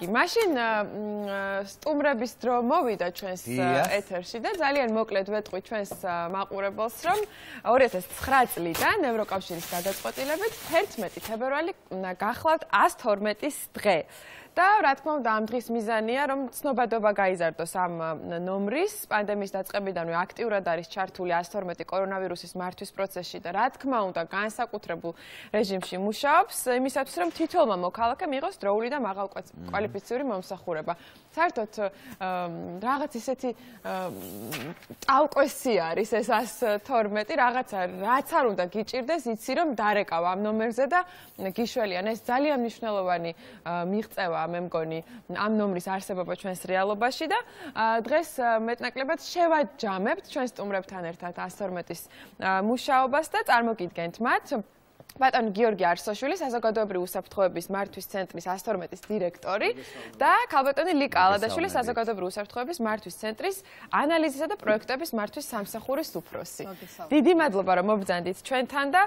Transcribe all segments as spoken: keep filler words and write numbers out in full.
კარგი, მაშინ სტუმრების დრო მოვიდა ჩვენს ეთერში და ძალიან მოკლედ ვეტყვი ჩვენს მაყურებელს, რომ ორი ათას ცხრა წლიდან ევროკავშირის გადაწყვეტილებით თერთმეტი თებერვალი გახლავთ ას თორმეტის დღე. და რა თქმა უნდა ამ დღის მიზანია რომ ცნობადობა გაიზარდოს ამ ნომრის პანდემიის დაწყებიდანვე აქტიურად არის ჩართული ას თორმეტი კორონავირუსის მართვის პროცესში და რა თქმა უნდა განსაკუთრებულ რეჟიმში მუშაობს იმისათვის რომ თითოეულმა მოქალაქემ მიიღოს დროული და მაღალკვალიფიციური მომსახურება. საერთოდ რაღაც ისეთი ტალკვესი არის ეს ას თორმეტი რაღაცა რაც არ უნდა გიჭირდეს იცი რომ დარეკავ ამ ნომერზე და გიშველიან ეს ძალიან მნიშვნელოვანი მიღწევა მე მგონი ამ ნომრის არსებობა ჩვენს რეალობაში და დღეს მეტნაკლებად შევაჯამებთ ჩვენ სტუმრებთან ერთად ას თორმეტის მუშაობას და წარმოგიდგენთ მათ ბატონი გიორგი არსოშვილი საზოგადოებრივი უსაფრთხოების მართვის ცენტრის ას თორმეტის დირექტორი და ქალბატონი ლიკა ალადაშვილი საზოგადოებრივი უსაფრთხოების მართვის ცენტრის ანალიზისა და პროექტების მართვის სამსახურის უფროსი. დიდი მადლობა რომ მობრძანდით ჩვენთან და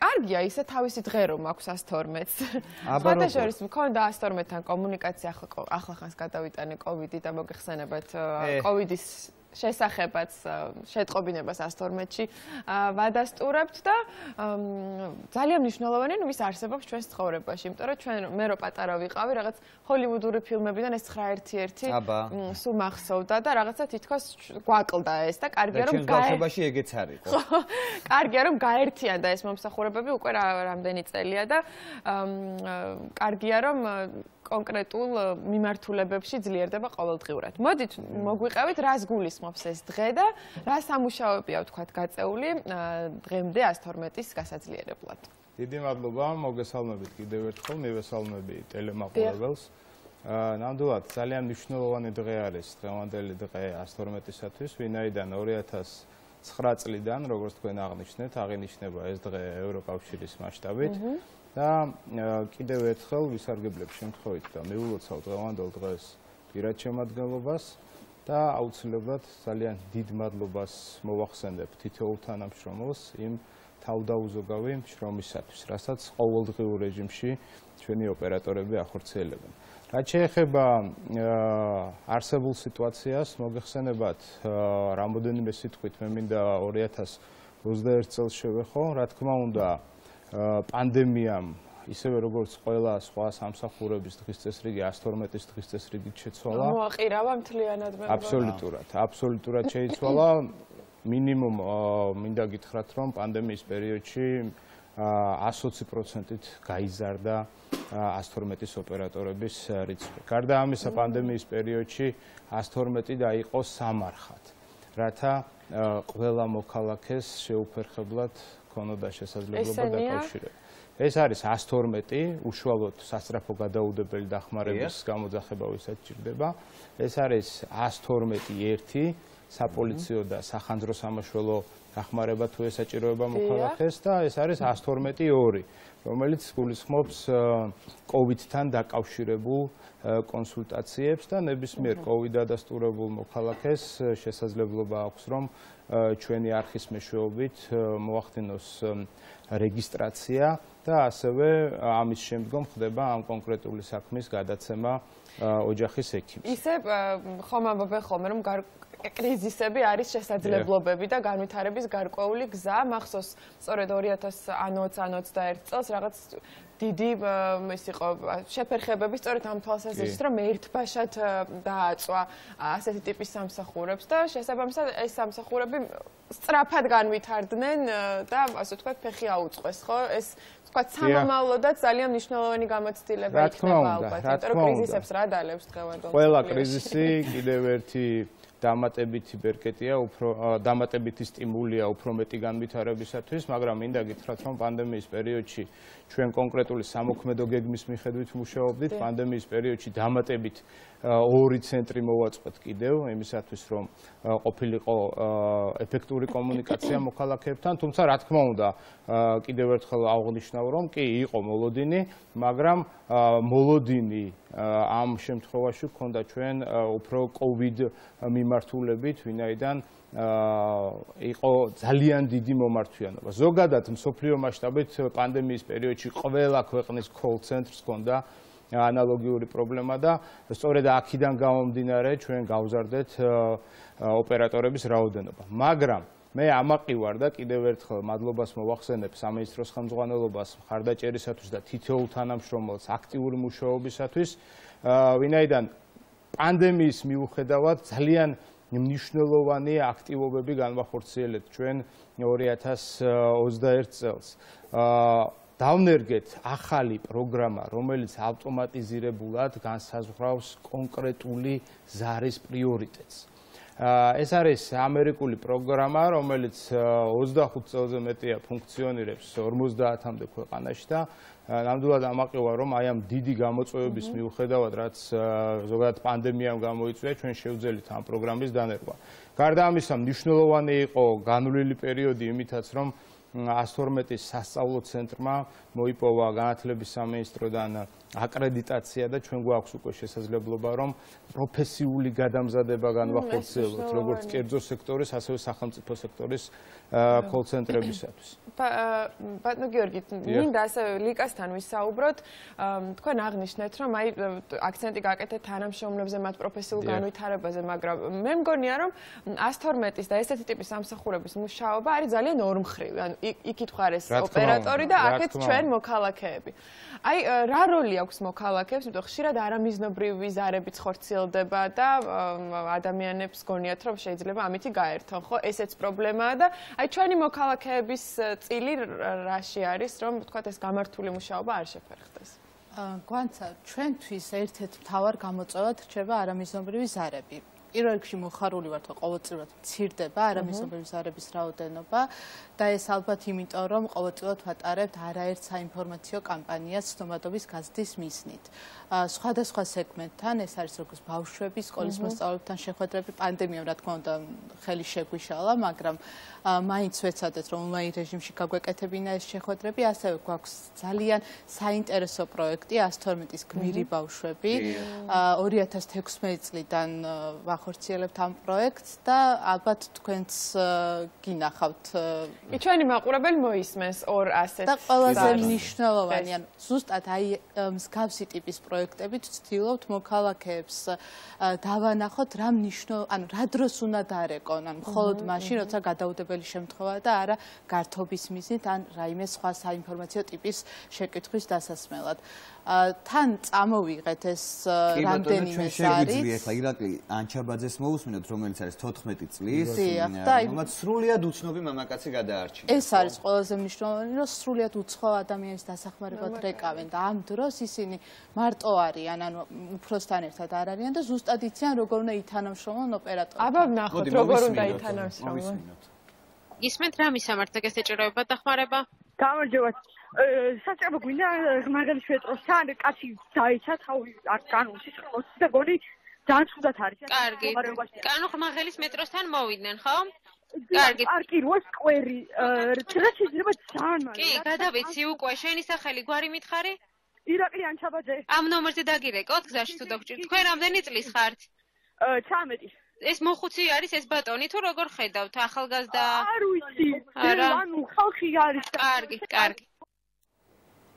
კარგია ისე თავისი დღე რომ აქვს ას თორმეტს. სხვათა შორის მქონდა ას თორმეტთან კომუნიკაცია ახლა ხანს გადავიტანე კოვიდი და მოგეხსენებათ კოვიდის შესახებაც შეტყობინებას ას თორმეტში ვადასტურებთ და ძალიან მნიშვნელოვანია მის არსებობს ჩვენს ცხოვრებაში, იმიტომ რომ ჩვენ მე რო პატარა ვიყავი, რაღაც ჰოლივუდური ფილმებიდან ეს ცხრა ერთი ერთი სულ მახსოვდა და რაღაცა თითქოს გვაკლდა ეს და კარგია რომ ბავშვობაში ეგეც არის. ხო, კარგია რომ გაერთიანდა ეს მომსახურებები უკვე რამდენი წელია და კარგია რომ კონკრეტულ მიმართულებებში ძლიერდება ყოველდღიურად. მოდით მოგვიყევით რას გულისხმობს ეს დღე და რა სამუშაოებია ვთქვათ გაწეული დღემდე ას თორმეტის გასაძლიერებლად. დიდი მადლობა, მოგესალმებით კიდევ ერთხელ, მივესალმები ტელემაყურებელს. ნამდვილად ძალიან მნიშვნელოვანი დღე არის დღევანდელი დღე ას თორმეტისათვის, ვინაიდან ორი ათას ცხრა წლიდან, როგორც თქვენ აღნიშნეთ, აღინიშნება ეს დღე ევროკავშირის მასშტაბით. და კიდევ ერთხელ ვისარგებლებ შემთხვევით და მივულოცავ დღევანდელ დღეს პირად შემადგენლობას და აუცილებლად ძალიან დიდ მადლობას მოვახსენებ თითოეულ თანამშრომელს იმ თავდაუზოგავი შრომისათვის, რასაც ყოველდღიურ რეჟიმში ჩვენი ოპერატორები ახორციელებენ. რაც შეეხება არსებულ სიტუაციას, მოგეხსენებათ რამოდენიმე სიტყვით მე მინდა ორი ათას ოცდაერთ წელს შევეხო, რა თქმა უნდა პანდემიამ ისევე როგორც ყველა სხვა სამსახურების დღის წესრიგი ას თორმეტის დღის წესრიგით შეცვალა. მოაყირავა მთლიანად მე. აბსოლუტურად, აბსოლუტურად შეიცვალა. მინიმუმ მინდა გითხრათ რომ პანდემიის პერიოდში ას ოცი პროცენტით გაიზარდა ას თორმეტის ოპერატორების რიცხვი. გარდა ამისა პანდემიის პერიოდში ას თორმეტი დაიყო სამარხად, რათა ყველა მოქალაქეს შეუფერხებლად ქონოდა შესაძლებლობა დაკავშირება. ეს არის ას თორმეტი, უშუალოდ სასწრაფო გადაუდებელი დახმარების გამოძახება ვისაც ჭირდება. ეს არის ას თორმეტი ერთი, საპოლიციო და სახანძრო სამაშველო დახმარება თუ ესაჭიროება მოქალაქეს და ეს არის ას თორმეტი ორი, რომელიც გულისხმობს კოვიდთან დაკავშირებულ კონსულტაციებს და ნებისმიერ კოვიდ დადასტურებულ მოქალაქეს შესაძლებლობა აქვს რომ ჩვენი არხის მეშვეობით მოახდინოს რეგისტრაცია და ასევე ამის შემდგომ ხდება ამ კონკრეტული საქმის გადაცემა ოჯახის ექიმს. ისე ხომ ამბობენ ხოლმე რომ კრიზისები არის შესაძლებლობები და განვითარების გარკვეული გზა. მახსოვს სწორედ ორი ათას ოცი ან ოცდაერთ წელს რაღაც დიდი ის იყო შეფერხებები სწორედ ამ თვალსაზრისით რომ ერთბაშად დააწვა ასეთი ტიპის სამსახურებს და შესაბამისად ეს სამსახურები სწრაფად განვითარდნენ და ასე ვთქვათ ფეხი აუწყვეს, ხო? ეს ვთქვათ სამომავლოდაც ძალიან მნიშვნელოვანი გამოცდილება იქნება ალბათ, იმიტომ რომ კრიზისებს რა დალევს დღევანდელ. ყველა კრიზისი კიდევ ერთი დამატებითი ბერკეტია, უფრო დამატებითი სტიმულია უფრო მეტი განვითარებისათვის, მაგრამ მინდა გითხრათ, რომ პანდემიის პერიოდში ჩვენ კონკრეტული სამოქმედო გეგმის მიხედვით მუშაობდით, პანდემიის პერიოდში დამატებით ორი ცენტრი მოვაწყვეთ კიდევ, იმისათვის რომ ყოფილიყო ეფექტური კომუნიკაცია მოქალაქეებთან, თუმცა რა თქმა უნდა, კიდევ ერთხელ აღვნიშნავ, რომ კი იყო მოლოდინი, მაგრამ მოლოდინი ამ შემთხვევაში გქონდა ჩვენ უფრო კოვიდ მიმართულებით, ვინაიდან იყო ძალიან დიდი მომართვიანობა. ზოგადად მსოფლიო მასშტაბით პანდემიის პერიოდში ყველა ქვეყნის call centers ჰქონდა ანალოგიური პრობლემა და სწორედ აქედან გამომდინარე ჩვენ გავზარდეთ ოპერატორების რაოდენობა. მაგრამ მე ამაყივარ და კიდევ ერთხელ მადლობას მოვახსენებ სამინისტროს ხელმძღვანელობას მხარდაჭერისათვის და თითოეულ თანამშრომელს აქტიური მუშაობისათვის, ვინაიდან პანდემიის მიუხედავად ძალიან მნიშვნელოვანი აქტივობები განვახორციელეთ ჩვენ ორი ათას ოცდაერთ წელს. დავნერგეთ ახალი პროგრამა, რომელიც ავტომატიზირებულად განსაზღვრავს კონკრეტული ზარის პრიორიტეტს. ეს არის ამერიკული პროგრამა, რომელიც ოცდახუთ წელზე მეტია ფუნქციონირებს ორმოცდაათამდე ქვეყანაში და ნამდვილად ამაყივარ, რომ აი ამ დიდი გამოწვევების მიუხედავად, რაც ზოგადად პანდემიამ გამოიწვია, ჩვენ შევძელით ამ პროგრამის დანერგვა. გარდა ამისა, მნიშვნელოვანი იყო განვლილი პერიოდი იმითაც, რომ ას თორმეტი სასწავლო ცენტრმა მოიპოვა განათლების სამინისტროდან აკრედიტაცია და ჩვენ გვაქვს უკვე შესაძლებლობა, რომ პროფესიული გადამზადება განვახორციელოთ, როგორც კერძო სექტორის, ასევე სახელმწიფო სექტორის კოლ-ცენტრებისათვის. ბატონო გიორგი, მინდა ასევე ლიკასთან ვისაუბროთ. თქვენ აღნიშნეთ, რომ აი აქცენტი გაკეთეთ თანამშრომლებზე, მათ პროფესიულ განვითარებაზე, მაგრამ მე მგონია, რომ ას თორმეტის და ესეთი ტიპის სამსახურების მუშაობა არის ძალიან ორმხრივი. ანუ იქით ხარეს ოპერატორი და აქეთ ჩვენ მოქალაქეები. აი რა როლი აქვს მოქალაქეებს, იმიტომ ხშირად არამიზნობრივი ზარებიც ხორციელდება და ადამიანებს გონიათ, რომ შეიძლება ამითი გაერთონ, ხო? ესეც პრობლემაა და აი ჩვენი მოქალაქეების წილი რაში არის, რომ თქვათ ეს გამართული მუშაობა არ შეფერხდეს. გვანცა, ჩვენთვის ერთ-ერთ მთავარ გამოწვევად რჩება არამიზნობრივი ზარები. პირველ რიგში მოხარული ვართ, რომ ყოველწლიურად მცირდება არამიზნობრივი ზარების რაოდენობა და ეს ალბათ იმიტომ, რომ ყოველწლიურად ვატარებთ არაერთ საინფორმაციო კამპანიას ცნობადობის გაზრდის მიზნით. სხვადასხვა სეგმენტთან, ეს არის როგორც ბავშვები, სკოლის მოსწავლეებთან შეხვედრები, პანდემიამ რა თქმა უნდა ხელი შეგვიშალა, მაგრამ მაინც ვეცადეთ, რომ ონლაინ რეჟიმში გაგვეკეთებინა ეს შეხვედრები, ასევე გვაქვს ძალიან საინტერესო პროექტი ას თორმეტის გმირი ბავშვები. ორი ათას თექვსმეტი წლიდან ვახორციელებთ ამ პროექტს და ალბათ თქვენც გინახავთ. კი ჩვენი მაყურებელი მოისმენს ორ ასეთ და ყველაზე მნიშვნელოვანი, ანუ ზუსტად აი მსგავსი ტიპის პროექტებით ვცდილობთ მოქალაქეებს დავანახოთ რა მნიშვნელოვანი, ანუ რა დროს უნდა დარეკონ, ანუ მხოლოდ მაშინ, როცა გადაუდებელი შემთხვევა და არა გართობის მიზნით ან რაიმე სხვა საინფორმაციო ტიპის შეკითხვის დასასმელად. თან წამოვიღეთ ეს რამდენიმე ზარი. ეხლა ირაკლი ანჩაბაძეს მოусმინოთ, რომელიც არის თოთხმეტი წლის, რომელმაც სრულიად უცნობი მამაკაცი გადაარჩინა. ეს არის ყველაზე მნიშვნელოვანი, რომ სრულიად უცხო ადამიანის დასახმარებლად რეკავენ და ამ დროს ისინი მარტო არიან, ანუ უფროსთან ერთად არ არიან და ზუსტად იციან, როგორ უნდა ითანამშრომლონ ოპერატორთან. აბა ვნახოთ, როგორ უნდა ითანამშრომლონ. ისმენთ რა მისამართთა ეს ეჭიროება დახმარება? გამარჯობა. საჭირო გვინდა მაგალითად მეტროსთან კაცი დაიცა თავი არ განუსის ხმოს და გონი ძალიან ცუდად არის. კარგი. კანო ხმაღელის მეტროსთან მოვიდნენ, ხო? კარგი. პარკი რვა სკვერი. რა შეიძლება ძალიან მალე. კი, გადავიცი უკვე შენი სახელი გვარი მითხარი? ირაკლი ანჩაბაძე. ამ ნომერზე დაგირეკოთ გზაში თუ დაგჭირთ. თქვენ რამდენი წლის ხართ? ცამეტი. ეს მოხუცი არის ეს ბატონი თუ როგორ ხედავთ ახალგაზრდა? არ ვიცი. ანუ ხალხი არის. კარგი, კარგი.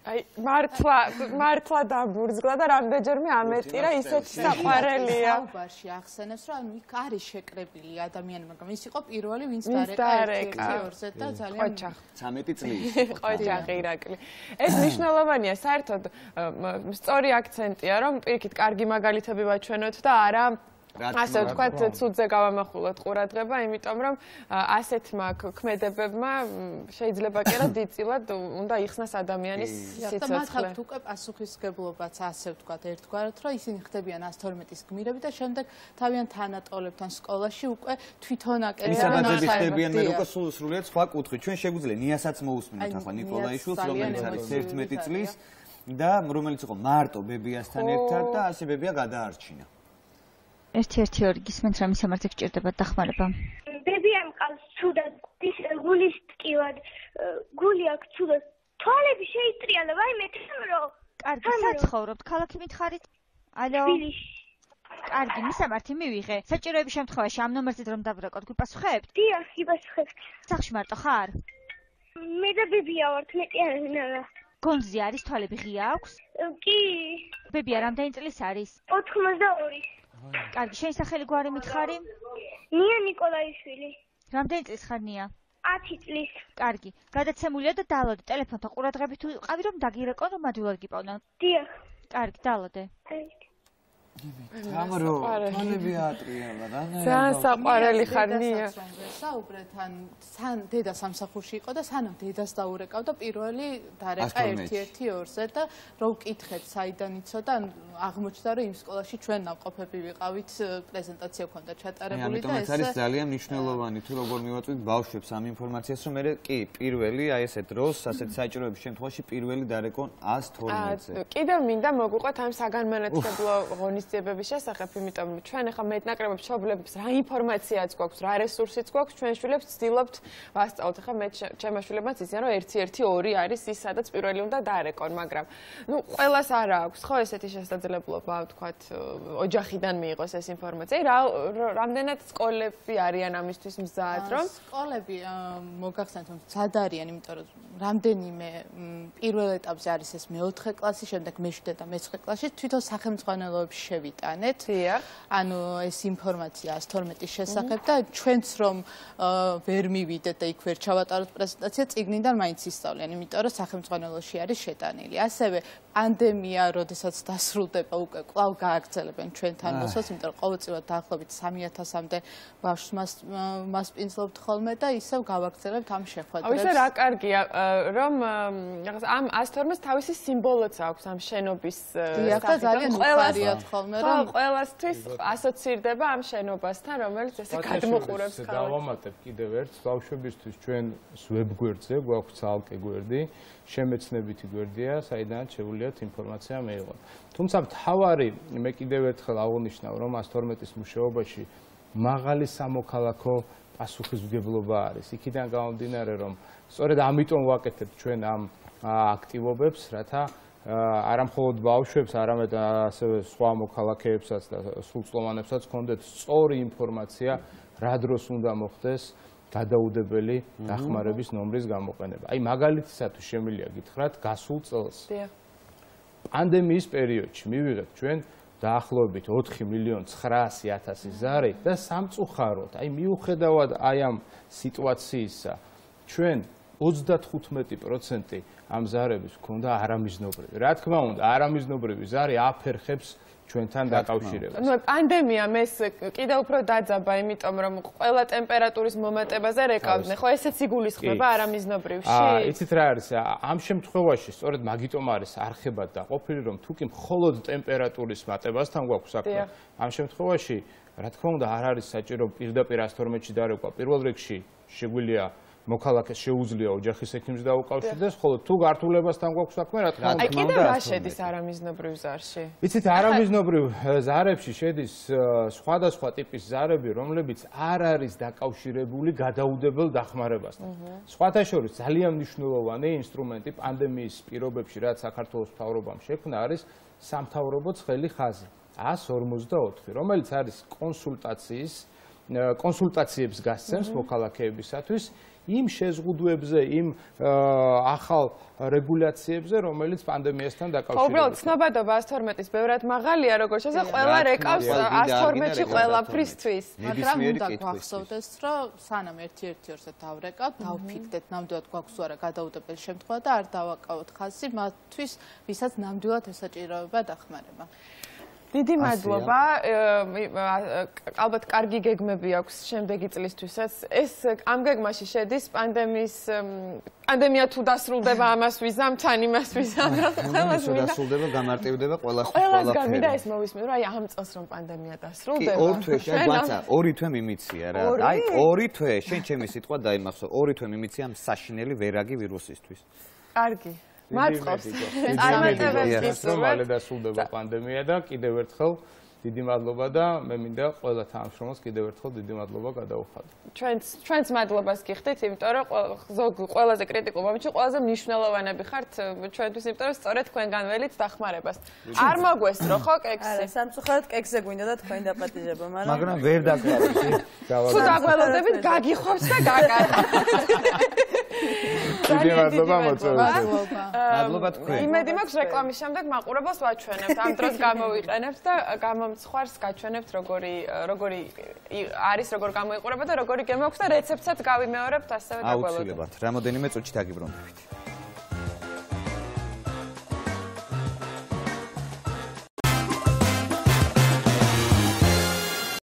აი მართლა მართლა დაბურძგლა და რამდენჯერმე ამეტირა ისეთი საყვარელია. საუბარში ახსენებს, რომ ანუ იქ არის შეკრებილი ადამიანი, მაგრამ ის იყო პირველი, ვინც დარეკა ორზე და ძალიან ცამეტი წლის. ყოჯახი ირაკლი. ეს მნიშვნელოვანია საერთოდ სწორი აქცენტია, რომ პირიქით კარგი მაგალითები ვაჩვენოთ და არა ასე ვთქვათ, ცუდზე გავამახვილოთ ყურადღება, იმიტომ რომ ასეთმა ქმედებებმა შეიძლება კი არა დიდწილად უნდა იხსნას ადამიანის სიცოცხლე. და მათ აქვთ უკვე პასუხისმგებლობაც, ასე ვთქვათ, ერთგვარად, რომ ისინი ხდებიან ას თორმეტის გმირები და შემდეგ თავიანთ თანატოლებთან სკოლაში უკვე თვითონ აკეთებენ. ისაბაძები ხდებიან მე უკვე სრულიად სხვა კუთხით. ჩვენ შეგვიძლია ნიასაც მოусმინოთ ახლა ნიკოლაიშვილს, რომელიც არის ერთმეტი წლის და რომელიც იყო მარტო ბებიასთან ერთად და ასე ბებია გადაარჩინა. ერთი-ერთი ორი გისმენთ რა მისამართი გჭირდება დახმარება. ბებიამ ყავს ცუდად, გულის ტკივად, გული აქვს ცუდად. თვალები შეიწრიალა, ვაიმე თემრო. კარგი, საცხოვრობთ, ქალაქი მითხარით? ალო. თბილისში. კარგი, მისამართი მივიღე. საჭიროების შემთხვევაში ამ ნომერზე რომ დავრეკოთ, გვიპასუხებთ? დიახ, იბასუხებთ. სახლში მარტო ხარ? მე და ბებია ვართ, მეტი არა. გონზე არის თვალები ღია აქვს? კი. ბებია რამდენი წლის არის? ოთხმოცდაორი. კარგი, შენი სახელი გვარი მითხარი? ნია ნიკოლაიშვილი. რამდენი წლის ხარ ნია? ათი წლის. კარგი, გადაცემულია და დალოდე ტელეფონთან ყურადღებით თუ იყავი რომ დაგირეკონ რომ ადვილად გიპოვნო. დიახ. კარგი, დალოდე. გამარო, თვალები ატრიალა რა. ძალიან საყვარელი ხარ ნია. საუბრეთ ან სან დედა სამსახურში იყო და სანამ დედას დაურეკავდა პირველი დარეკა ერთ-ერთი ორზე და რო ვკითხეთ საიდან იცოდა ან აღმოჩნდა რომ იმ სკოლაში ჩვენ ნამყოფები ვიყავით პრეზენტაცია ქონდა ჩატარებული და ეს არის ძალიან მნიშვნელოვანი თუ როგორ მივაწვით ბავშვებს ამ ინფორმაციას რომ მე კი პირველი აი ესე დროს ასეთ საჭიროების შემთხვევაში პირველი დარეკონ ას თორმეტზე. კიდევ მინდა მოგვიყვეთ ამ საგანმანათლებლო ღონისძიებების შესახებ, იმიტომ რომ ჩვენ ახლა მეტნაკლებად მშობლებს რა ინფორმაციაც გვაქვს, რა რესურსიც გვაქვს, ჩვენ შვილებს ვცდილობთ ვასწავლოთ. ახლა მე ჩემმა შვილებმაც იციან რომ ერთი ერთი ორი არის ის სადაც პირველი უნდა დარეკონ, მაგრამ ნუ ყველას არ აქვს ხო ესეთი შესაძლებლობა, ვთქვათ, ოჯახიდან მიიღოს ეს ინფორმაცია. რა რამდენად სკოლები არიან ამისთვის მზად, რომ სკოლები მოგახსენეთ რომ მზად არიან, იმიტომ რომ რამდენიმე პირველ ეტაპზე არის ეს მეოთხე კლასი, შემდეგ მეშვიდე და მეცხრე კლასში თვითონ სახელმძღვანელოებში შევიტანეთ. ანუ ეს ინფორმაცია ას თორმეტის შესახებ და ჩვენც რომ ვერ მივიდეთ და იქ ვერ ჩავატაროთ პრეზენტაცია, წიგნიდან მაინც ისწავლიან, იმიტომ რომ სახელმძღვანელოში არის შეტანილი. ასევე პანდემია, როდესაც დასრულდება, უკვე კვლავ გააგრძელებენ ჩვენთან მოსვლას, იმიტომ რომ ყოველწლიურად დაახლოებით სამი ათასამდე ბავშვს მასპინძლობთ ხოლმე და ისევ გავაგრძელებთ ამ შეხვედრებს. ისე რა კარგია, რომ ამ ას თორმეტს თავისი სიმბოლოც აქვს ამ შენობის დიახ და ძალიან უხარიათ ხოლმე რომ ყველასთვის ასოცირდება ამ შენობასთან, რომელიც ესე გადმოყურებს ხალხს. დავამატებ კიდევ ერთს, ბავშვებისთვის ჩვენ ვებგვერდზე გვაქვს ცალკე გვერდი, შემეცნებითი გვერდია, საიდანაც შეუძლიათ ინფორმაცია მეიღოთ. თუმცა მთავარი მე კიდევ ერთხელ აღნიშნავ, რომ ას თორმეტის მუშაობაში მაღალი სამოქალაქო პასუხისმგებლობა არის. იქიდან გამომდინარე, რომ სწორედ ამიტომ ვაკეთებთ ჩვენ ამ აქტივობებს, რათა არა მხოლოდ ბავშვებს, არამედ ასევე სხვა მოქალაქეებსაც და სრულწლოვანებსაც ჰქონდეთ სწორი ინფორმაცია, რა დროს უნდა მოხდეს გადაუდებელი დახმარების ნომრის გამოყენება. აი მაგალითისათვის შემიძლია გითხრათ, გასულ წელს პანდემიის პერიოდში მივიღეთ ჩვენ დაახლოებით ოთხი მილიონი ცხრაასი ათასი ზარი და სამწუხაროდ, აი მიუხედავად აი ამ სიტუაციისა, ჩვენ ოცდათხუთმეტი პროცენტი ამ ზარების ქონდა არამიზნობრივი. რა თქმა უნდა, არამიზნობრივი ზარი აფერხებს ჩვენთან დაკავშირებას. ნუ პანდემიამ ეს კიდევ უფრო დაძაბა, იმიტომ რომ ყველა ტემპერატურის მომატებაზე რეკავდნენ. ხო, ესეც იგულისხმება არამიზნობრივში? აა, იცით რა არის? ამ შემთხვევაში სწორედ მაგიტომ არის არხებად დაყოფილი, რომ თუკი მხოლოდ ტემპერატურის მატებასთან გვაქვს საქმე, ამ შემთხვევაში, რა თქმა უნდა, არ არის საჭირო პირდაპირ ას თორმეტში დარეკვა. პირველ რიგში შეგვიძლია მოქალაქეს შეუძლია ოჯახის ექიმს დაუკავშირდეს, ხოლო თუ გართულებასთან გვაქვს საქმე, რა თქმა უნდა, აი კიდევ რა შედის არამიზნობრივ ზარში? იცით, არამიზნობრივ ზარებში შედის სხვადასხვა ტიპის ზარები, რომლებიც არ არის დაკავშირებული გადაუდებელ დახმარებასთან. სხვათა შორის ძალიან მნიშვნელოვანი ინსტრუმენტი პანდემიის პირობებში, რაც საქართველოს მთავრობამ შექმნა, არის სამთავრობო ცხელი ხაზი ას ორმოცდაოთხი, რომელიც არის კონსულტაციის კონსულტაციებს გასცემს მოქალაქეებისათვის იმ შეზღუდვებზე, იმ ახალ რეგულაციებზე, რომელიც პანდემიასთან დაკავშირებულია. უბრალოდ ცნობადობა ას თორმეტის ბევრად მაღალია, როგორც შესაძლოა, ყველა რეკავს ას თორმეტში ყველაფრისთვის. მაგრამ უნდა გვახსოვდეს, რომ სანამ ერთი ერთი ორზე დავრეკავთ, დავფიქრდეთ, ნამდვილად გვაქვს თუ არა გადაუდებელი შემთხვევა და არ დავაკავოთ ხაზი მათთვის, ვისაც ნამდვილად ესაჭიროება დახმარება. დიდი მადლობა. ალბათ კარგი გეგმები აქვს შემდეგი წლისთვისაც. ეს ამ გეგმაში შედის პანდემიის პანდემია თუ დასრულდება, ამას ვიზამ, თან იმას ვიზამ, რა ყველას მინდა. დასრულდება, გამარტივდება ყველა ყველა. ყველას გამინდა ეს მოვისმენ, რომ აი ამ წელს რომ პანდემია დასრულდება. კი, ორ თვეში, აი გვაცა, ორი თვე მიმიცია რა. აი ორი თვე, შენ ჩემი სიტყვა დაიმახსო, ორი თვე მიმიცია ამ საშინელი ვერაგი ვირუსისთვის. კარგი. მაწყობს. წარმატებებს რომ მალე დასრულდება პანდემია და კიდევ ერთხელ დიდი მადლობა და მე მინდა ყველა თანამშრომელს კიდევ ერთხელ დიდი მადლობა გადაუხადო. ჩვენც ჩვენც მადლობას გიხდით, იმიტომ რომ ზოგ ყველაზე კრიტიკულ მომენტში ყველაზე მნიშვნელოვანები ხართ ჩვენთვის, იმიტომ რომ სწორედ თქვენგან ველით დახმარებას. არ მოგვესწრო ხო კექსი? არა, სამწუხაროდ კექსზე გვინდა და თქვენი დაპატიჟება, მაგრამ მაგრამ ვერ დაგვაქვს. თუ დაგველოდებით, გაგიხობს და გაკარგავთ. დიდი მადლობა მოწვევაზე. მადლობა თქვენ. იმედი მაქვს რეკლამის შემდეგ მაყურებელს ვაჩვენებთ. ამ დროს გამოვიყენებთ და გამომცხვარს გაჩვენებთ როგორი როგორი არის როგორ გამოიყურება და როგორი გემო აქვს და რეცეპტსაც გავიმეორებთ ასევე დაგველოდოთ. აუცილებლად. რამოდენიმე წუთში დაგიბრუნდებით.